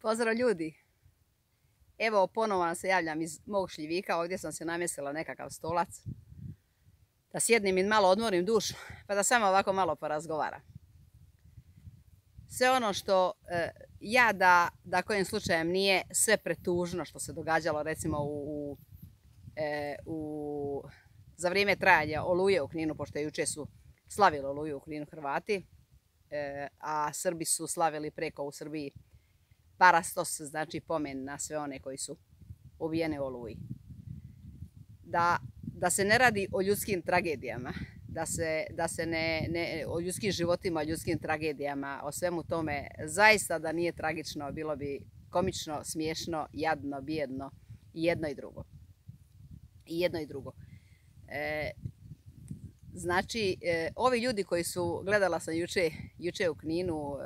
Pozdrav ljudi! Evo ponovo vam se javljam iz mog šljivika. Ovdje sam se namjestila nekakav stolac. Da sjednem i malo odmorim dušu, pa da samo ovako malo porazgovaram. Sve ono što ja da kojim slučajem nije sve pretužno što se događalo recimo za vrijeme trajanja Oluje u Kninu, pošto jučer su slavili Oluju u Kninu Hrvati, a Srbi su slavili preko u Srbiji parastos, znači pomen na sve one koji su ubijeni u Oluji. Da se ne radi o ljudskim tragedijama, da se ne o ljudskim životima, ljudskim tragedijama, o svemu tome, zaista da nije tragično, bilo bi komično, smiješno, jadno, bijedno i jedno i drugo. Znači, ovi ljudi koji su, gledala sam juče u Kninu,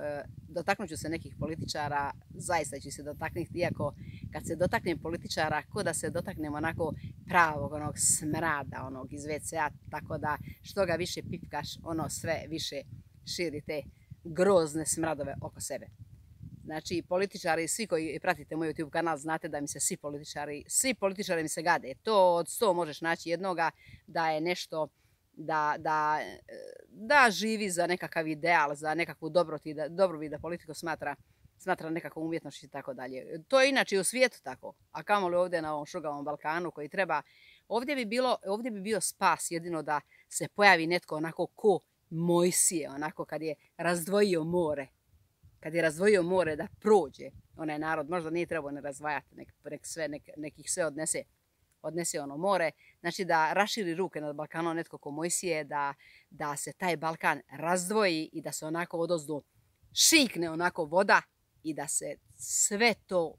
dotaknut ću se nekih političara, zaista ću se dotaknuti, iako kad se dotaknem političara, ko da se dotaknem onako pravog onog smrada, onog iz WC-a, tako da što ga više pipkaš, ono sve više širi te grozne smradove oko sebe. Znači, političari, svi koji pratite moj YouTube kanal, znate da mi se svi političari mi se gade. To od 100 možeš naći jednoga da je nešto, da živi za nekakav ideal, za nekakvu dobrobit, da politiku smatra nekakvom umjetnošću i tako dalje. To je inače u svijetu tako, a kamoli ovdje na ovom šugavom Balkanu koji treba. Ovdje bi bio spas jedino da se pojavi netko onako ko Mojsije, onako kad je razdvojio more. Kad je razdvojio more da prođe onaj narod, možda nije trebao ne razdvajati, nek ih sve odnese ono more. Znači da raširi ruke nad Balkanom netko ko Mojsije, da se taj Balkan razdvoji i da se onako odozdo šikne onako voda i da se sve to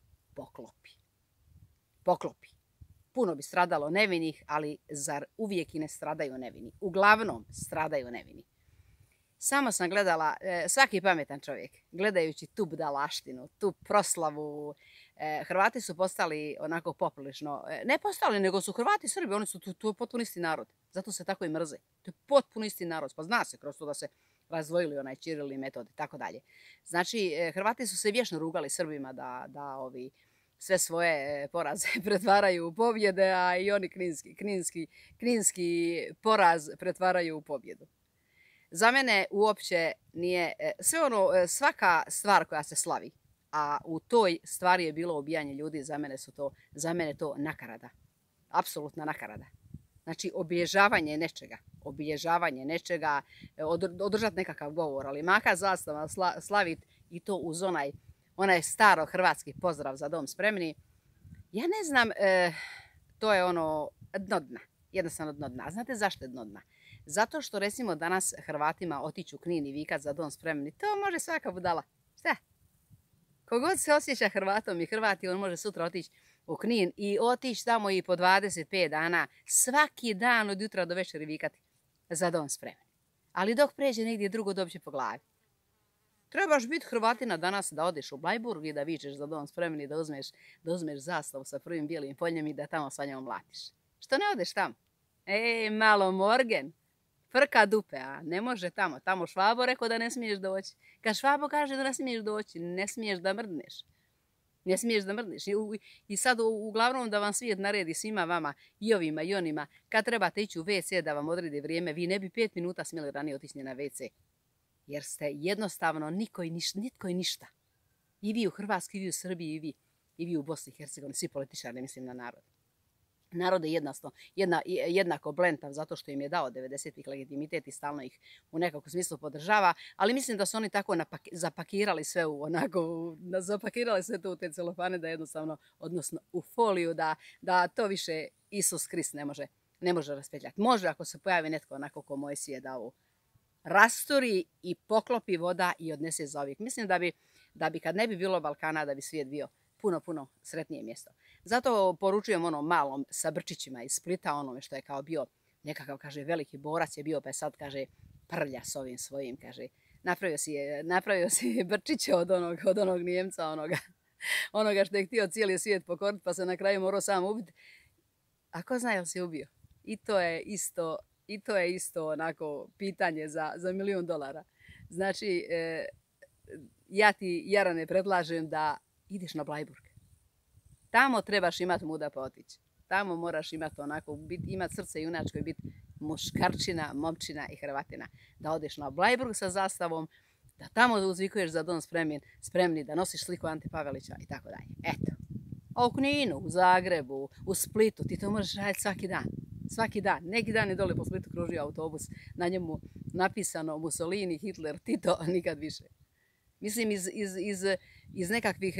poklopi. Puno bi stradalo nevinih, ali zar uvijek i ne stradaju nevini? Uglavnom stradaju nevini. Samo sam gledala, svaki pametan čovjek, gledajući tu budalaštinu, tu proslavu, Hrvati su postali onako poprilično, ne postali, nego su Hrvati Srbi, oni su tu potpuno isti narod, zato se tako i mrze. To je potpuno isti narod, pa zna se kroz to da se razdvojili onaj Ćiril i Metod i tako dalje. Znači, Hrvati su se vječno rugali Srbima da ovi sve svoje poraze pretvaraju u pobjede, a i oni kninski poraz pretvaraju u pobjedu. Za mene uopće nije, svaka stvar koja se slavi, a u toj stvari je bilo ubijanje ljudi, za mene to nakarada. Apsolutna nakarada. Znači, obilježavanje nečega, održati nekakav govor, ali maka zastava slaviti i to uz onaj staro hrvatski pozdrav za dom spremni. Ja ne znam, to je ono dno dna, jednostavno dno dna. Znate zašto je dno dna? Zato što recimo danas Hrvatima otići u Knin i vikat za dom spremni, to može svaka budala. Šta? Kogod se osjeća Hrvatom i Hrvati, on može sutra otići u Knin i otići tamo i po 25 dana, svaki dan od jutra do večeri vikati za dom spremni. Ali dok pređe negdje drugo dobće po glavi. Trebaš biti Hrvatina danas da odeš u Blajburg i da vičeš za dom spremni, da uzmeš zastavu sa prvim bijelim poljem i da tamo sa njom mlatiš. Što ne odeš tamo? Malo morgen. Frka dupe, a ne može tamo. Tamo Švabo rekao da ne smiješ doći. Kad Švabo kaže da ne smiješ doći, ne smiješ da mrdneš. Ne smiješ da mrdneš. I sad uglavnom da vam svijet naredi svima vama, i ovima i onima, kad trebate ići u WC da vam odredi vrijeme, vi ne bi 5 minuta smjeli ranije otići na WC. Jer ste jednostavno nitko i ništa. I vi u Hrvatskoj, i vi u Srbiji, i vi u Bosni i Hercegovini, svi političari, ne mislim na narod. Narod je jednako blentav zato što im je dao 90-ih legitimitet i stalno ih u nekakvom smislu podržava, ali mislim da su oni tako zapakirali sve zapakirali sve to u te celofane da jednostavno, odnosno u foliju, da to više Isus Krist ne može raspetljati. Može ako se pojavi netko onako ko Mojsije da ovu rasturi i poklopi voda i odnese za uvijek. Mislim da bi kad ne bi bilo Balkana, da bi svijet bio puno sretnije mjesto. Zato poručujem onom malom sa Brčićima iz Splita, onome što je kao bio nekakav, kaže, veliki borac je bio, pa je sad, kaže, prlja s ovim svojim, kaže, napravio si Brčiće od onog Nijemca, onoga što je htio cijeli svijet pokoriti, pa se na kraju morao sam ubiti. A ko zna jel si ubio? I to je isto onako pitanje za $1.000.000. Znači, ja ti, Jarane, predlažem da ideš na Blajburg. Tamo trebaš imati muda pa otići. Tamo moraš imati onako, imati srce junačko i biti muškarčina, momčina i Hrvatina. Da odeš na Blajburg sa zastavom, da tamo uzvikuješ za dom spremni, da nosiš sliku Ante Pavelića i tako dalje. Eto. A u Kninu, u Zagrebu, u Splitu, ti to možeš raditi svaki dan. Svaki dan. Neki dan je dole po Splitu kružio autobus, na njemu napisano Mussolini, Hitler, Tito, a nikad više. Mislim iz nekakvih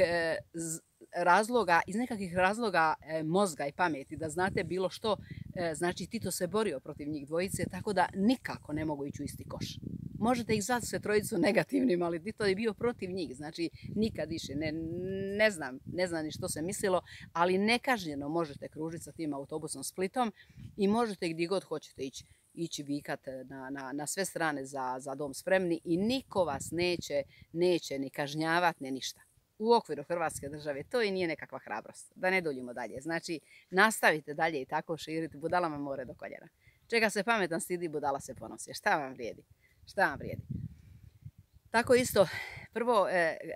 razloga mozga i pameti, da znate bilo što, znači Tito se borio protiv njih dvojice, tako da nikako ne mogu ići u isti koš. Možete ih zvati sve trojicu negativnim, ali Tito je bio protiv njih, znači nikad više, ne znam ni što se mislilo, ali nekažnjeno možete kružiti sa tim autobusom Splitom i možete gdje god hoćete ići vikat na sve strane za dom spremni i niko vas neće ni kažnjavati, ni ništa. U okviru Hrvatske države to i nije nekakva hrabrost, da ne duljimo dalje. Znači, nastavite dalje i tako širiti, budalama more do koljena. Čega se pametan stidi, budala se ponosi. Šta vam vrijedi? Šta vam vrijedi? Tako isto, prvo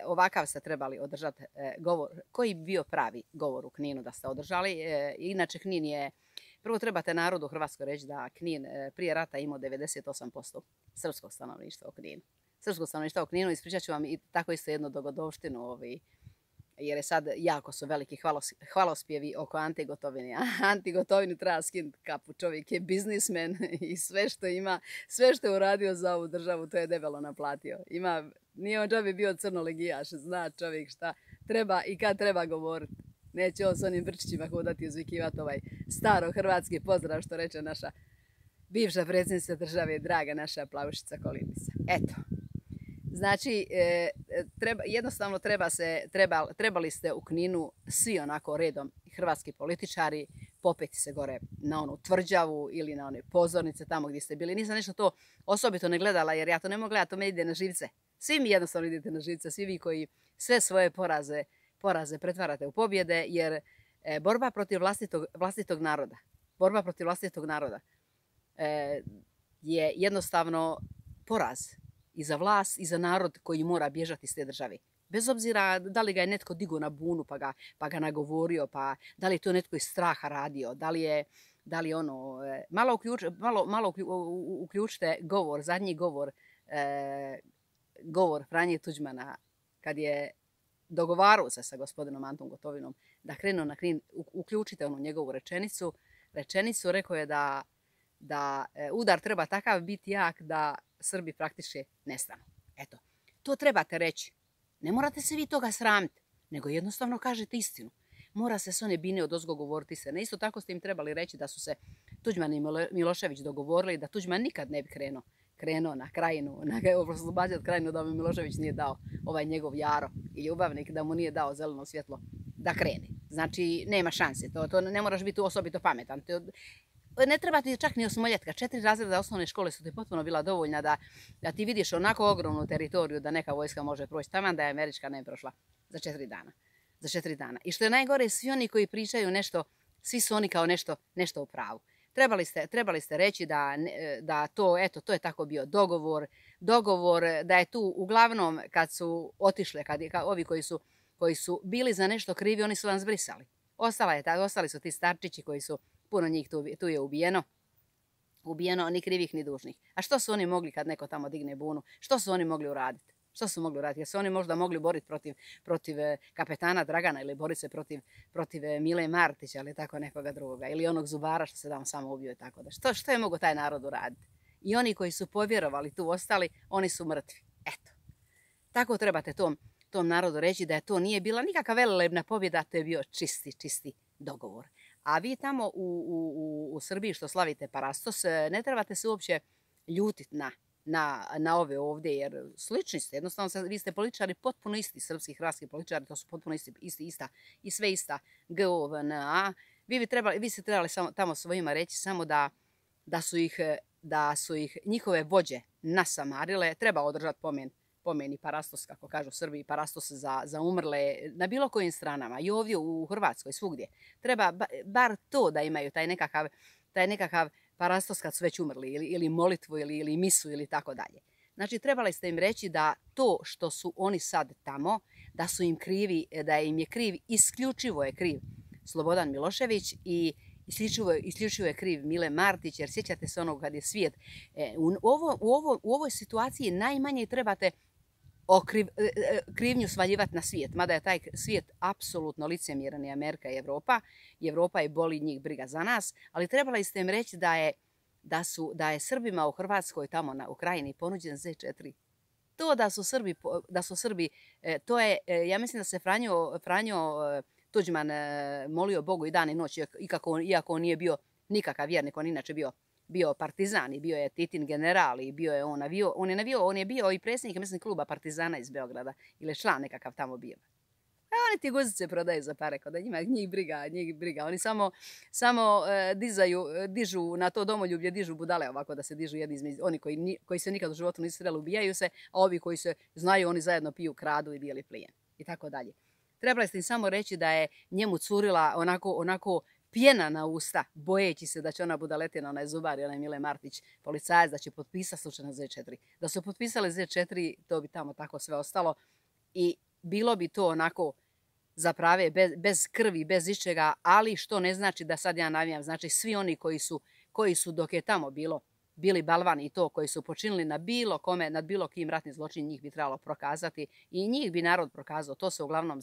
ovakav ste trebali održati govor. Koji bi bio pravi govor u Kninu da ste održali? Inače, Knin je, prvo trebate narodu u Hrvatskoj reći da Knin prije rata imao 98% srpskog stanovništva u Kninu. Srpskog stanovništva u Kninu, ispričat ću vam i tako isto jednu dogodovštinu, jer je sad jako su veliki hvalospjevi oko Ante Gotovine. Anti Gotovini treba skinuti kapu, čovjek je biznismen i sve što ima, sve što je uradio za ovu državu, to je debelo naplatio. Nije on džabe bio crnolegijaš, zna čovjek šta treba i kad treba govoriti. Neće on s onim brčićima hodati i uzvikivati ovaj staro hrvatski pozdrav što reče naša bivša predsjednica države, draga naša Plavušica Kolindica. Eto. Znači, jednostavno trebali ste u Kninu svi onako redom hrvatski političari popeti se gore na onu tvrđavu ili na one pozornice tamo gdje ste bili. Nisam nešto to osobito ne gledala jer ja to ne mogu gledati, to me ide na živce. Svi mi jednostavno idete na živce, svi vi koji sve svoje poraze pretvarate u pobjede jer borba protiv vlastitog naroda je jednostavno poraz. I za vlast i za narod koji mora bježati iz te države. Bez obzira da li ga je netko digao na bunu pa ga nagovorio, pa da li je to netko iz straha radio, da li ono... Malo uključite govor, zadnji govor Franje Tuđmana kad je dogovarao se sa gospodinom Antom Gotovinom da krenu na Knin, uključite onu njegovu rečenicu, rekao je da udar treba takav biti jak da Srbi praktički nestanu. Eto, to trebate reći. Ne morate se vi toga sramiti, nego jednostavno kažete istinu. Mora se s one bine odozgo govoriti se. Isto tako ste im trebali reći da su se Tuđman i Milošević dogovorili da Tuđman nikad ne bi krenuo na Krajinu, oslobađati Krajinu da mu Milošević nije dao ovaj njegov jaro i ljubavnik, da mu nije dao zeleno svjetlo da krene. Znači, nema šanse. To ne moraš biti osobito pametan. Ne treba ti čak ni osmoljetka. 4 razreda osnovne škole su ti potpuno bila dovoljna da ti vidiš onako ogromnu teritoriju da neka vojska može proći. Taman da je američka ne prošla za 4 dana. I što je najgore, svi oni koji pričaju nešto, svi su oni kao nešto u pravu. Trebali ste reći da to je tako bio dogovor, da je tu uglavnom kad su otišle, ovi koji su bili za nešto krivi, oni su vam zbrisali. Ostali su ti starčići koji su, puno njih tu je ubijeno, ni krivih ni dužnih. A što su oni mogli kad neko tamo digne bunu? Što su oni mogli uraditi? Jer su oni možda mogli boriti protiv kapetana Dragana ili boriti se protiv Mile Martića ili tako nekoga drugoga. Ili onog zubara što se tamo samo ubio i tako da. Što je mogao taj narod uraditi? I oni koji su povjerovali tu ostali, oni su mrtvi. Eto. Tako trebate tom narodu reći da je to nije bila nikakva velebna pobjeda, to je bio čisti dogovor. A vi tamo u Srbiji što slavite Parastos, ne trebate se uopće ljutiti na ove ovdje, jer slični ste. Jednostavno, vi ste političari potpuno isti, srpski, hrvatski političari, to su potpuno ista i sve ista GOVNA. Vi ste trebali tamo svojima reći samo da su ih njihove vođe nasamarile. Treba održati pomeni Parastos, kako kažu Srbiji, Parastos za umrle na bilo kojim stranama. I ovdje u Hrvatskoj, svugdje. Treba bar to da imaju taj nekakav Parastos kad su već umrli, ili molitvu, ili misu, ili tako dalje. Znači, trebali ste im reći da to što su oni sad tamo, da su im krivi, da im je kriv, isključivo je kriv Slobodan Milošević i isključivo je kriv Mile Martić, jer sjećate se onog kad je svijet. U ovoj situaciji najmanje trebate krivnju svaljivati na svijet, mada je taj svijet apsolutno licemjeran, i Amerika i Evropa. I Evropa je boli njih briga za nas, ali trebali ste im reći da je Srbima u Hrvatskoj, tamo na Ukrajini, ponuđen Z4. To da su Srbi, to je, ja mislim da se Franjo Tuđman molio Bogu i dan i noć, iako on nije bio nikakav vjernik, on inače bio partizan i bio je Titin general i bio je on je bio i predsjednik, mislim, kluba partizana iz Beograda ili član nekakav tamo bio. A oni ti guzice prodaju za pare, kod njih briga. Oni samo dižu na to domoljublje, dižu budale ovako da se dižu jedni između. Oni koji se nikad u životu nisu sreli, ubijaju se, a ovi koji se znaju, oni zajedno piju, kradu i dijeli plijen. I tako dalje. Trebali ste im samo reći da je njemu curila onako pjena na usta, bojeći se da će ona budaletina, onaj zubar i onaj Mile Martić, policajac, da će potpisati slučajno Z4. Da su potpisali Z4, to bi tamo tako sve ostalo i bilo bi to onako za prave, bez krvi, bez ičega, ali što ne znači da sad ja navijam. Znači svi oni koji su dok je tamo bili balvani i to, koji su počinili na bilo kome, nad bilo kim ratni zločin, njih bi trebalo prokazati i njih bi narod prokazao. To se uglavnom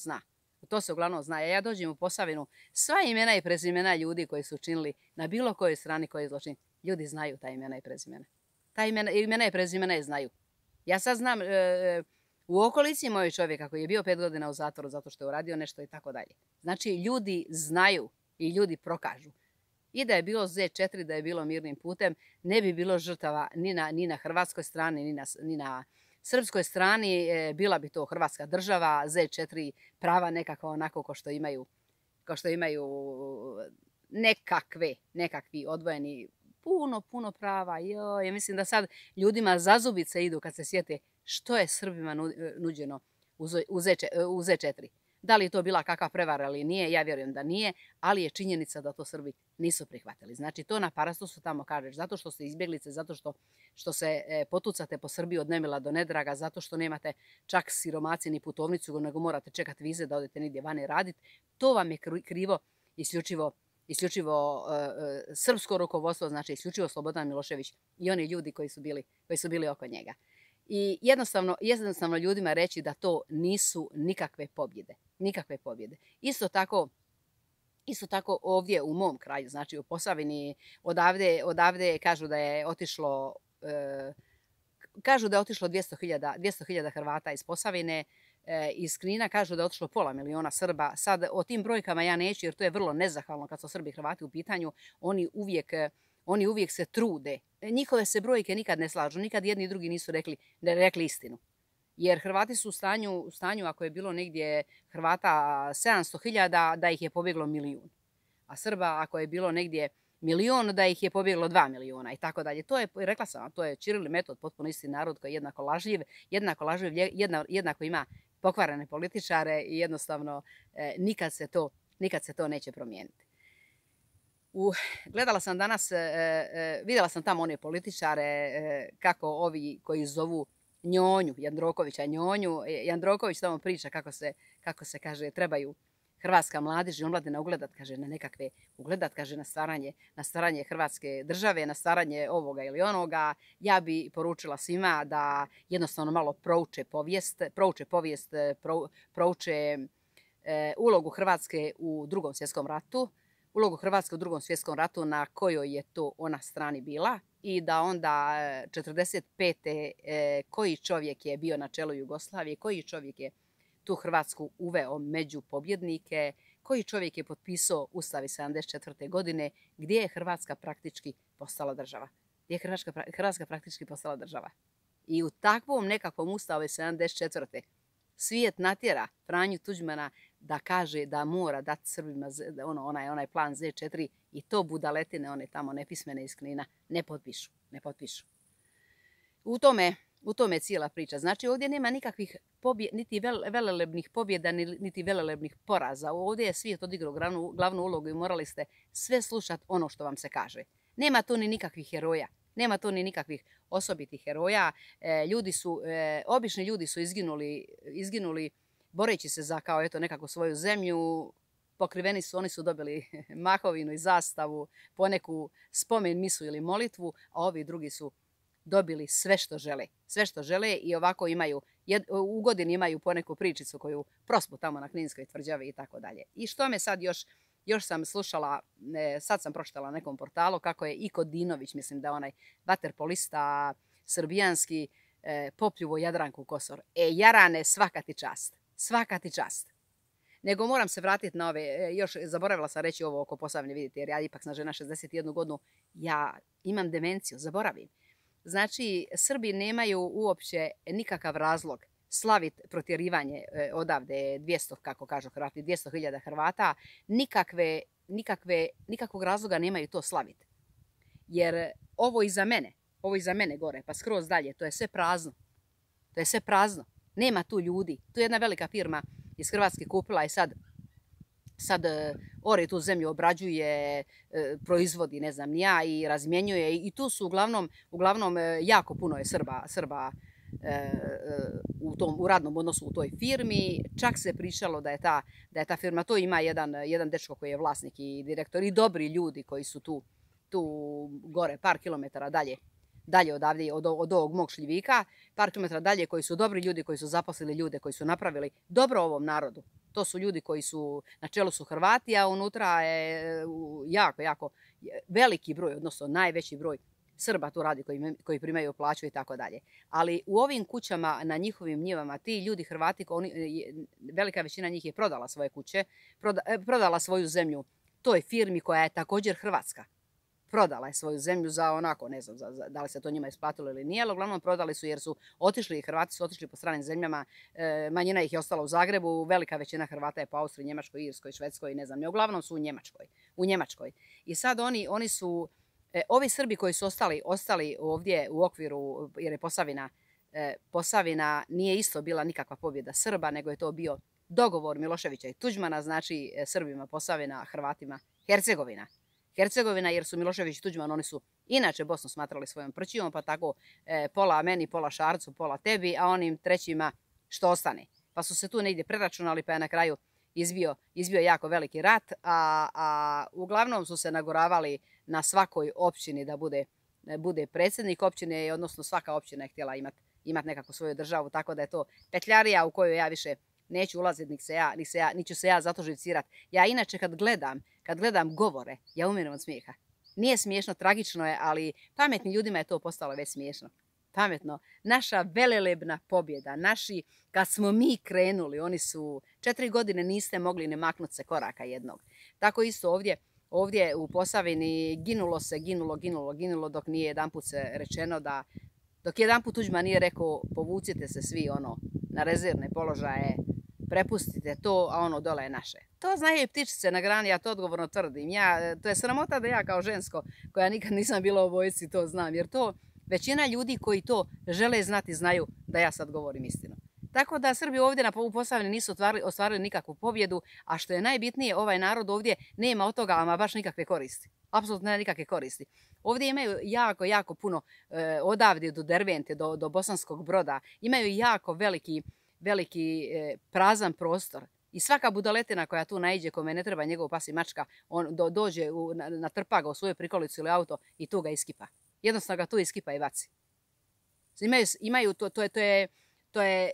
zna. Ja dođem u Posavinu, sva imena i prezimena ljudi koji su činili na bilo kojoj strani koji je zločin, ljudi znaju ta imena i prezimena. Ta imena i prezimena je znaju. Ja sad znam u okolici mojeg čovjeka koji je bio 5 godina u zatvoru zato što je uradio nešto i tako dalje. Znači ljudi znaju i ljudi prokažu. I da je bilo Z4, da je bilo mirnim putem, ne bi bilo žrtava ni na hrvatskoj strani, ni na srpskoj strani. Bila bi to Hrvatska država, Z4 prava nekako onako ko što imaju nekakvi odvojeni, puno prava. Ja mislim da sad ljudima za zubice idu kad se sjete što je Srbima nuđeno u Z4. Da li je to bila kakva prevara ili nije, ja vjerujem da nije, ali je činjenica da to Srbi nisu prihvatili. Znači to na parastosu tamo kažeš, zato što ste izbjeglice, zato što se potucate po Srbiji od nemila do nedraga, zato što nemate čak siromaci ni putovnicu, nego morate čekati vize da odete nigdje vani raditi. To vam je krivo isključivo srpsko rukovodstvo, znači isključivo Slobodan Milošević i oni ljudi koji su bili oko njega. I jednostavno ljudima reći da to nisu nikakve pobjede. Isto tako ovdje u mom kraju, znači u Posavini, odavde kažu da je otišlo 200.000 Hrvata iz Posavine, iz Knina kažu da je otišlo 500.000 Srba. Sad o tim brojkama ja neću jer to je vrlo nezahvalno kad su Srbi i Hrvati u pitanju. Oni uvijek se trude. Njihove se brojke nikad ne slažu. Nikad jedni i drugi nisu rekli istinu. Jer Hrvati su u stanju, ako je bilo negdje Hrvata 700.000, da ih je pobjeglo 1 milijun. A Srba, ako je bilo negdje 1 milijun, da ih je pobjeglo 2 milijuna i tako dalje. To je, rekla sam, to je Ćiril i Metod, potpuno isti narod koji je jednako ima pokvarene političare i jednostavno nikad se to neće promijeniti. Gledala sam danas, vidjela sam tamo one političare, kako ovi koji zovu Njonju, Jandrokovića Njonju. Jandroković tamo priča kako se kaže trebaju hrvatska mladež i omladina ugledat na stvaranje Hrvatske države, na stvaranje ovoga ili onoga. Ja bi poručila svima da jednostavno malo prouče povijest, prouče ulogu Hrvatske u Drugom svjetskom ratu, na kojoj je to ona strani bila i da onda 45. Koji čovjek je bio na čelu Jugoslavije, koji čovjek je tu Hrvatsku uveo među pobjednike, koji čovjek je potpisao Ustav iz 74. godine gdje je Hrvatska praktički postala država. I u takvom nekakvom Ustavu iz 74. svijet natjera Franju Tuđmana da kaže da mora dati Srbima onaj plan Z4 i to budaletine, one tamo nepismene iz Knina, ne potpišu. U tome je cijela priča. Znači ovdje nema nikakvih niti velelebnih pobjeda, niti velelebnih poraza. Ovdje je svijet odigrao glavnu ulogu i morali ste sve slušati ono što vam se kaže. Nema tu ni nikakvih heroja. Nema tu ni nikakvih osobitih heroja. Obični ljudi su izginuli boreći se za kao eto nekako svoju zemlju, pokriveni su, oni su dobili mahovinu i zastavu, poneku spomen misu ili molitvu, a ovi drugi su dobili sve što žele. Sve što žele i ovako imaju, u godini imaju poneku pričicu koju prospu tamo na Kninskoj tvrđavi i tako dalje. I što me sad još sam slušala, sad sam pročitala na nekom portalu kako je Iko Dinović, mislim da onaj vaterpolista srbijanski, popljuvo Jadranku Kosor. Jarane, svaka ti čast. Svaka ti čast. Nego moram se vratiti na ove, još zaboravila sam reći ovo oko Posavine, vidite, jer ja ipak sam žena 61 godinu, ja imam demenciju, zaboravim. Znači, Srbi nemaju uopće nikakav razlog slaviti protjerivanje odavde 200, kako kažu Hrvati, 200.000 Hrvata, nikakvog razloga nemaju to slaviti. Jer ovo iza mene gore, pa skroz dalje, to je sve prazno. To je sve prazno. Nema tu ljudi. Tu je jedna velika firma iz Hrvatske kupila i sad ore tu zemlju, obrađuje, proizvodi, ne znam, ja, i razmjenjuje. I tu su uglavnom jako puno je Srba u radnom odnosu u toj firmi. Čak se pričalo da je ta firma, to ima jedan dečko koji je vlasnik i direktor i dobri ljudi koji su tu gore par kilometara dalje odavde, od ovog mog Šljivika, par kilometara dalje, koji su dobri ljudi, koji su zaposlili ljude, koji su napravili dobro ovom narodu. To su ljudi koji su, na čelu su Hrvati, a unutra je jako veliki broj, odnosno najveći broj Srba tu radi koji primaju plaću i tako dalje. Ali u ovim kućama, na njihovim njivama, ti ljudi Hrvati, velika većina njih je prodala svoje kuće, prodala svoju zemlju toj firmi koja je također hrvatska. Prodala je svoju zemlju za onako, ne znam da li se to njima isplatilo ili nije, ali uglavnom prodali su jer su otišli, Hrvati su otišli po stranim zemljama, manjina ih je ostala u Zagrebu, velika većina Hrvata je po Austriji, Njemačkoj, Irskoj, Švedskoj, ne znam, uglavnom su u Njemačkoj. I sad oni su, ovi Srbi koji su ostali ovdje u okviru, jer je Posavina nije isto bila nikakva pobjeda Srba, nego je to bio dogovor Miloševića i Tuđmana, znači Srbima Posavina, Hrvatima Hercegovina, jer su Milošević i Tuđman, oni su inače Bosnu smatrali svojom prćijom, pa tako pola meni, pola Šarcu, pola tebi, a onim trećima što ostane. Pa su se tu negdje preračunali, pa je na kraju izbio jako veliki rat, a uglavnom su se nagoravali na svakoj općini da bude predsjednik općine, odnosno svaka općina je htjela imati nekako svoju državu, tako da je to petljarija u kojoj ja više neću ulaziti, niti ću se ja zato živcirati. Ja inače kad gledam govore, ja umiram od smijeha. Nije smiješno, tragično je, ali pametnim ljudima je to postalo već smiješno. Pametno. Naša velelebna pobjeda, kad smo mi krenuli, oni su 4 godine niste mogli ne maknuti se koraka jednog. Tako isto ovdje u Posavini ginulo, dok nije jedanput se rečeno dok jedanput Tuđman nije rekao povucite se svi na rezervne položaje, prepustite to, a ono dole je naše. To znaju i ptičice na grani, ja to odgovorno tvrdim. To je sramota da ja kao žensko, koja nikad nisam bila u vojsci, to znam. Jer to većina ljudi koji to žele znati znaju da ja sad govorim istinu. Tako da Srbi ovdje u Posavini nisu ostvarili nikakvu pobjedu, a što je najbitnije, ovaj narod ovdje nema od toga ama baš nikakve koristi. Apsolutno nema nikakve koristi. Ovdje imaju jako puno, odavde do Dervente, do Bosanskog Broda, imaju jako veliki prazan prostor. I svaka budaletina koja tu naiđe, kome ne treba njegov pas i mačka, on dođe, natrpa ga u svoju prikolicu ili auto i tu ga iskipa. Jednostavno ga tu iskipa i baci. Imaju to je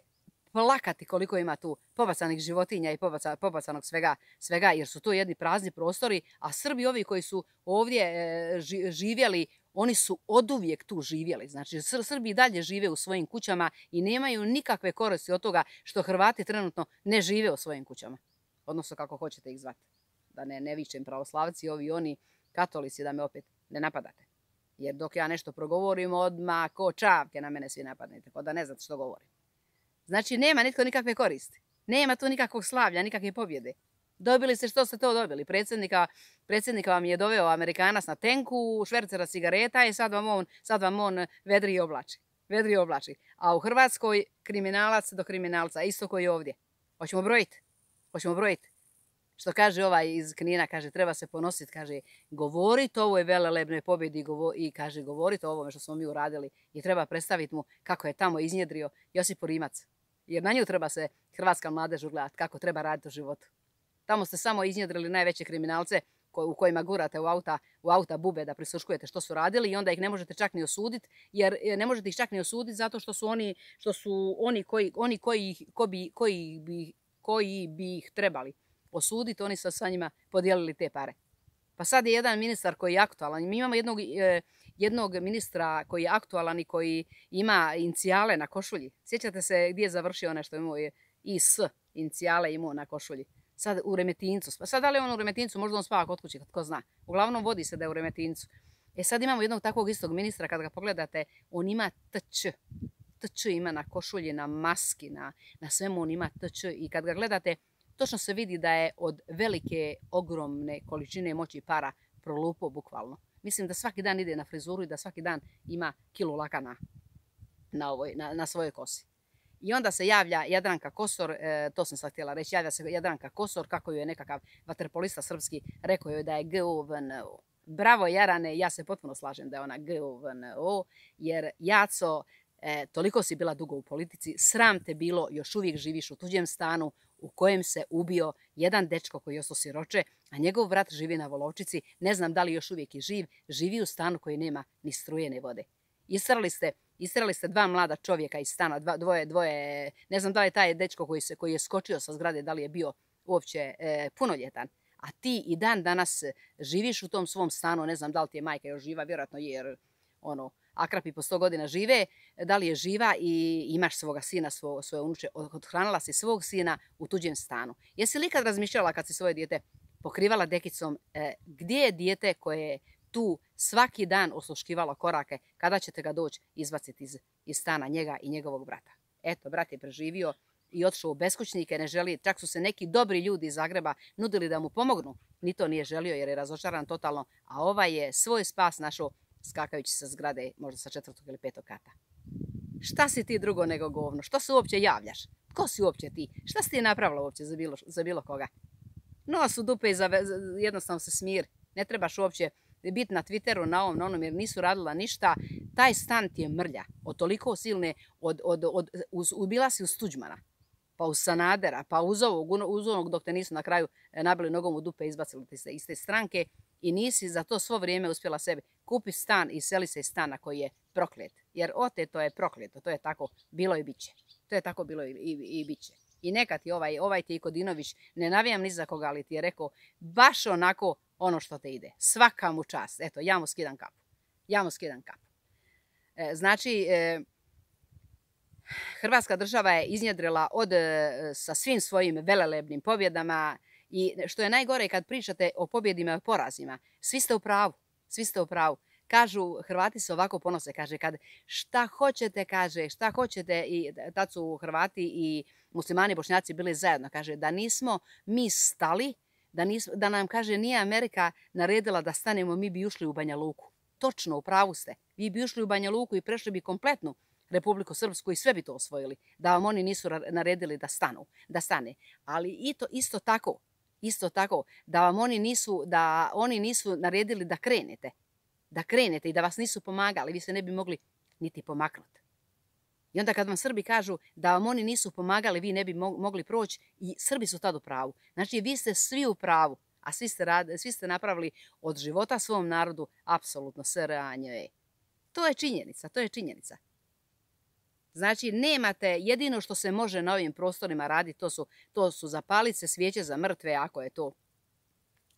plakati koliko ima tu pobacanih životinja i pobacanog svega, jer su to jedni prazni prostori, a Srbi ovi koji su ovdje živjeli, oni su oduvijek tu živjeli. Znači, Srbi dalje žive u svojim kućama i nemaju nikakve koristi od toga što Hrvati trenutno ne žive u svojim kućama. Odnosno, kako hoćete ih zvati. Da ne vičem pravoslavci, oni katolici, da me opet ne napadate. Jer dok ja nešto progovorim, odmah ko čavke na mene svi napadnete, pa da ne znate što govorim. Znači, nema nitko nikakve koristi. Nema tu nikakvog slavlja, nikakve pobjede. Dobili ste što ste to dobili. Predsjednika vam je doveo Amerikanac na tenku, švercera cigareta i sad vam on vedri i oblači. A u Hrvatskoj kriminalac do kriminalca, isto koji ovdje. Hoćemo brojiti. Što kaže ovaj iz Knina, kaže, treba se ponositi, kaže, govoriti o ovoj velelebnoj pobjedi i kaže, govoriti o ovome što smo mi uradili i treba predstaviti mu kako je tamo iznjedrio Josip Rimac. Jer na nju treba se hrvatska mladež ugledati kako treba raditi u životu. Tamo ste samo iznjedrili najveće kriminalce u kojima gurate u auta bube da prisluškujete što su radili i onda ih ne možete čak ni osuditi, jer ne možete ih čak ni osuditi zato što su oni koji bi ih trebali osuditi, oni su sa njima podijelili te pare. Pa sad je jedan ministar koji je aktualan. Mi imamo jednog ministra koji je aktualan i koji ima inicijale na košulji. Sjećate se gdje je završio nešto, imao je IS, inicijale imao na košulji. Sad u Remetincu. Sad da li je on u Remetincu, možda on spava kod kuće, tko zna. Uglavnom vodi se da je u Remetincu. Sad imamo jednog takvog istog ministra, kad ga pogledate, on ima TČ. TČ ima na košulji, na maski, na svemu on ima TČ. I kad ga gledate, točno se vidi da je od velike, ogromne količine moći para prolupo bukvalno. Mislim da svaki dan ide na frizuru i da svaki dan ima kilu laka na svojoj kosi. I onda se javlja Jadranka Kosor, to sam sad htjela reći, javlja se Jadranka Kosor, kako ju je nekakav vaterpolista srpski rekao joj da je GUVNO. Bravo Jarane, ja se potpuno slažem da je ona GUVNO, jer Jaco, toliko si bila dugo u politici, sram te bilo, još uvijek živiš u tuđem stanu u kojem se ubio jedan dečko koji je ostao siroče, a njegov brat živi na Volovčici, ne znam da li još uvijek je živ, živi u stanu koji nema ni struje ni vode. Isterali ste dva mlada čovjeka iz stana, dvoje, ne znam da li je taj dečko koji je skočio sa zgrade, da li je bio uopće punoljetan. A ti i dan danas živiš u tom svom stanu, ne znam da li ti je majka još živa, vjerojatno je, jer akrapi po 100 godina žive, da li je živa i imaš svoga sina, svoje unuče, othranila si svog sina u tuđem stanu. Jesi li ikad razmišljala kad si svoje dijete pokrivala dekicom, gdje je dijete koje je tu svaki dan osluškivalo korake, kada ćete ga doći izbaciti iz stana njega i njegovog brata? Eto, brat je preživio i otišao u beskućnike, ne želi, čak su se neki dobri ljudi iz Zagreba nudili da mu pomognu, ni to nije želio jer je razočaran totalno, a ovaj je svoj spas našao skakajući sa zgrade, možda sa 4. ili 5. kata. Šta si ti drugo nego govno? Što se uopće javljaš? Tko si uopće ti? Šta si ti napravila uopće za bilo koga? Nos u dupe i jednostavno se smiri. Ne trebaš uopće biti na Twitteru, na onom, jer nisu radila ništa. Taj stan ti je mrlja. Od toliko silne, ubila si uz Tuđmana, pa uz Sanadera, pa uz onog dok te nisu na kraju nabili nogom u dupe i izbacili te iz te stranke i nisi za to svo vrijeme uspjela sebi kupi stan i seli se iz stana koji je proklet. Jer oteto je prokleto, to je tako bilo i bit će. To je tako bilo i bit će. I neka ti ovaj ti Kodinović, ne navijam ni za koga, ali ti je rekao baš onako ono što te ide. Svaka mu čast. Eto, ja mu skidam kapu. Znači, Hrvatska država je iznjedrila sa svim svojim velelebnim pobjedama i što je najgore kad pričate o pobjedima i o porazima, svi ste u pravu. Kažu, Hrvati se ovako ponose, kaže, kad šta hoćete, i tad su Hrvati i muslimani Bošnjaci bili zajedno, kaže, da nismo mi stali, da nam, kaže, nije Amerika naredila da stanemo, mi bi ušli u Banja Luku. Točno, u pravu ste. Vi bi ušli u Banja Luku i prešli bi kompletnu Republiku Srpsku i sve bi to osvojili, da vam oni nisu naredili da stane. Ali isto tako, da oni nisu naredili da krenete i da vas nisu pomagali, vi se ne bi mogli niti pomaknuti. I onda kad vam Srbi kažu da vam oni nisu pomagali, vi ne bi mogli proći, i Srbi su tad u pravu. Znači, vi ste svi u pravu, a svi ste napravili od života svom narodu apsolutno sranje. To je činjenica. Znači, nemate, jedino što se može na ovim prostorima raditi, to su zapaliti se svijeće za mrtve, ako je to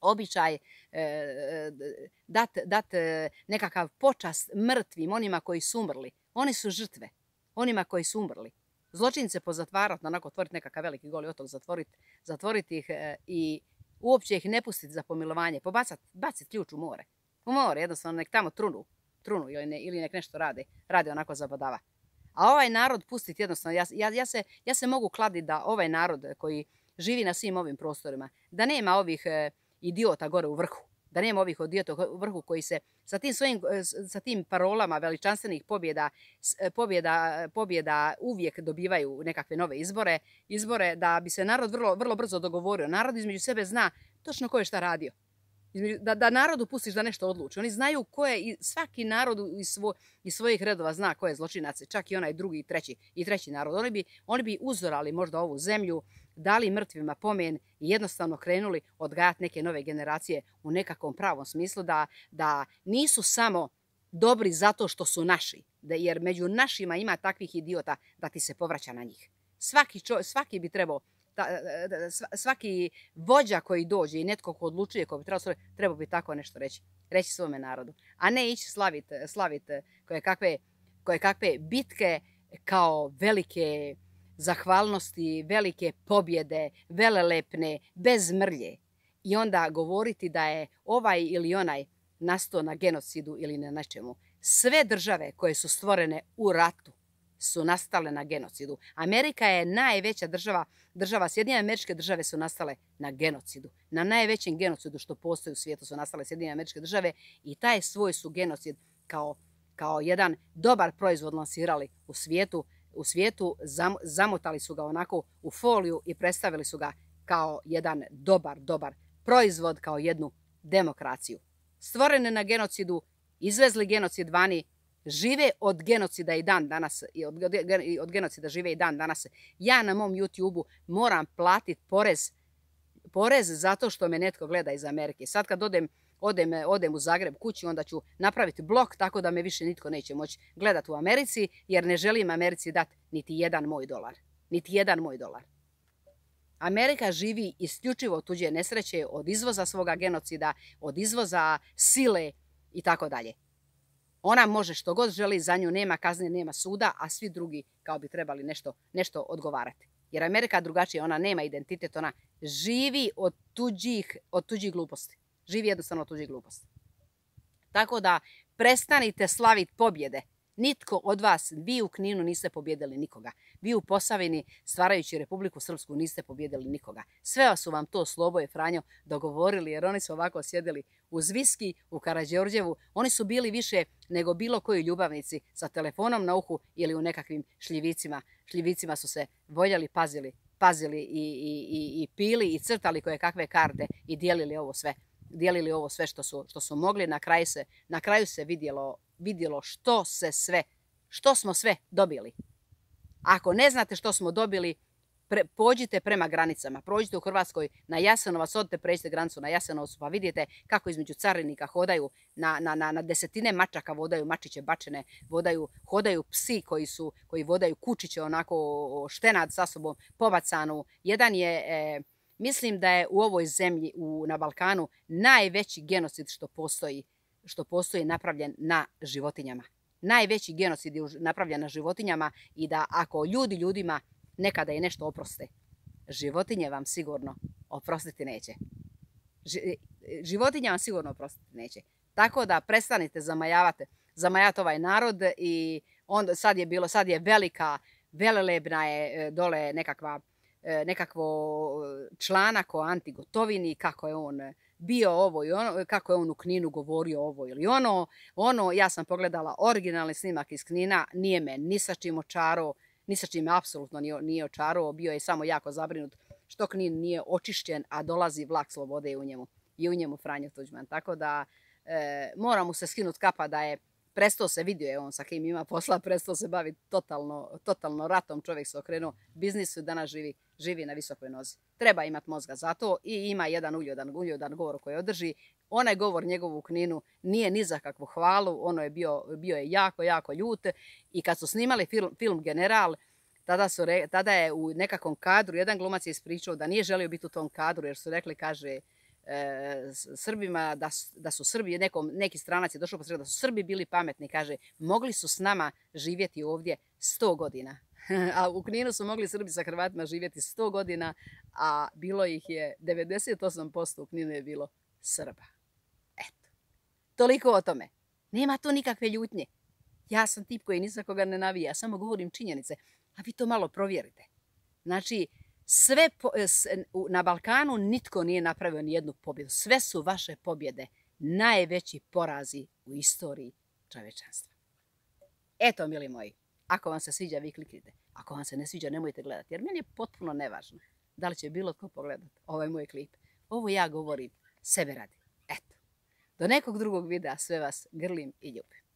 običaj, dat nekakav počast mrtvim, onima koji su umrli. Oni su žrtve, onima koji su umrli. Zločince pozatvarati, onako otvoriti nekakav veliki Goli otok, zatvoriti ih i uopće ih ne pustiti za pomilovanje, baciti ključ u more. U more, jednostavno, nek tamo trunu ili nek nešto rade onako zabadava. A ovaj narod pustiti jednostavno, ja se mogu kladiti da ovaj narod koji živi na svim ovim prostorima, da nema ovih idiota gore u vrhu, da nema ovih idiota u vrhu koji se sa tim parolama veličanstvenih pobjeda uvijek dobivaju nekakve nove izbore da bi se narod vrlo brzo dogovorio. Narod između sebe zna točno ko je šta radio. Da narodu pustiš da nešto odluči. Oni znaju ko je, i svaki narod iz svojih redova zna ko je zločinac, čak i onaj drugi i treći narod. Oni bi uzorali možda ovu zemlju, dali mrtvima pomen i jednostavno krenuli odgajati neke nove generacije u nekakvom pravom smislu, da nisu samo dobri zato što su naši, jer među našima ima takvih idiota da ti se povraća na njih. Svaki bi trebao, svaki vođa koji dođe i netko ko odlučuje, ko bi trebao bi tako nešto reći svome narodu, a ne ići slaviti koje kakve bitke kao velike zahvalnosti, velike pobjede, velelepne, bez mrlje, i onda govoriti da je ovaj ili onaj nastao na genocidu ili na nečemu. Sve države koje su stvorene u ratu su nastale na genocidu. Amerika je najveća država, Sjedinjene Američke Države su nastale na genocidu. Na najvećem genocidu što postoji u svijetu su nastale Sjedinjene Američke Države i taj svoj su genocid kao jedan dobar proizvod lansirali u svijetu, zamotali su ga onako u foliju i predstavili su ga kao jedan dobar proizvod, kao jednu demokraciju. Stvorene na genocidu, izvezli genocid vani, žive od genocida i dan danas, od genocida žive i dan danas. Ja na mom YouTube-u moram platiti porez zato što me netko gleda iz Amerike. Sad kad odem u Zagreb kući, onda ću napraviti blok tako da me više nitko neće moći gledati u Americi, jer ne želim Americi dati niti jedan moj dolar. Niti jedan moj dolar. Amerika živi isključivo od tuđe nesreće, od izvoza svoga genocida, od izvoza sile i tako dalje. Ona može što god želi, za nju nema kazne, nema suda, a svi drugi kao bi trebali nešto odgovarati. Jer Amerika drugačije, ona nema identitet, ona živi od tuđih gluposti. Živi jednostavno od tuđih gluposti. Tako da prestanite slaviti pobjede. Nitko od vas, vi u Kninu niste pobjedili nikoga. Vi u Posavini, stvarajući Republiku Srpsku, niste pobjedili nikoga. Sve su vam to Slobo i Franjo dogovorili, jer oni su ovako sjedili uz viski u Karađorđevu. Oni su bili više nego bilo koji ljubavnici sa telefonom na uhu ili u nekakvim šljivicima. Šljivicima su se voljeli, pazili i pili i crtali koje kakve karte i dijelili ovo sve što su mogli. Na kraju se vidjelo što smo sve dobili. Ako ne znate što smo dobili, pođite prema granicama. Prođite u Hrvatskoj na Jasenovac, odite, pređite granicu na Jasenovcu, pa vidite kako između carinika hodaju na desetine mačaka, vodaju mačiće bačene, hodaju psi koji vodaju kučiće onako štenad sa sobom pobacanu. Jedan je, mislim da je u ovoj zemlji, na Balkanu, najveći genocid što postoji napravljen na životinjama. Najveći genocid je napravljen na životinjama i da ako ljudima nekada i nešto oproste, životinje vam sigurno oprostiti neće. Životinje vam sigurno oprostiti neće. Tako da prestanite zamajavati ovaj narod i onda sad je velelebna je dole nekakvo članak o Anti Gotovini, kako je on bio ovo i ono, kako je on u Kninu govorio ovo ili ono. Ja sam pogledala originalni snimak iz Knina, nije me ni sa čim očarao, ni sa čim apsolutno nije očarao, bio je samo jako zabrinut što Knin nije očišćen, a dolazi vlak slobode i u njemu Franjo Tuđman. Tako da mora mu se skinuti kapa da je prestao se, vidio je on sa kim ima posla, prestao se baviti totalno ratom, čovjek se okrenuo biznisu, danas živi na visokoj nozi. Treba imati mozga za to i ima jedan uljudan govor koji održi. Onaj govor njegov u Kninu nije ni za kakvu hvalu, ono je bio je jako ljut i kad su snimali film General, tada je u nekakvom kadru jedan glumac je ispričao da nije želio biti u tom kadru jer su rekli, kaže, Srbima da su Srbi, neki stranac je došao posred da su Srbi bili pametni, kaže, mogli su s nama živjeti ovdje 100 godina. A u Kninu su mogli Srbi sa Hrvatima živjeti 100 godina, a bilo ih je 98% u Kninu je bilo Srba. Eto, toliko o tome. Nema tu nikakve ljutnje. Ja sam tip koji ni za koga ne navija, samo govorim činjenice, a vi to malo provjerite. Znači, na Balkanu nitko nije napravio ni jednu pobjedu. Sve su vaše pobjede najveći porazi u istoriji čovječanstva. Eto, mili moji, ako vam se sviđa, vi kliknite. Ako vam se ne sviđa, nemojte gledati. Jer meni je potpuno nevažno da li će bilo tko pogledati ovaj moj klip. Ovo ja govorim sebe radi. Eto. Do nekog drugog videa sve vas grlim i ljubim.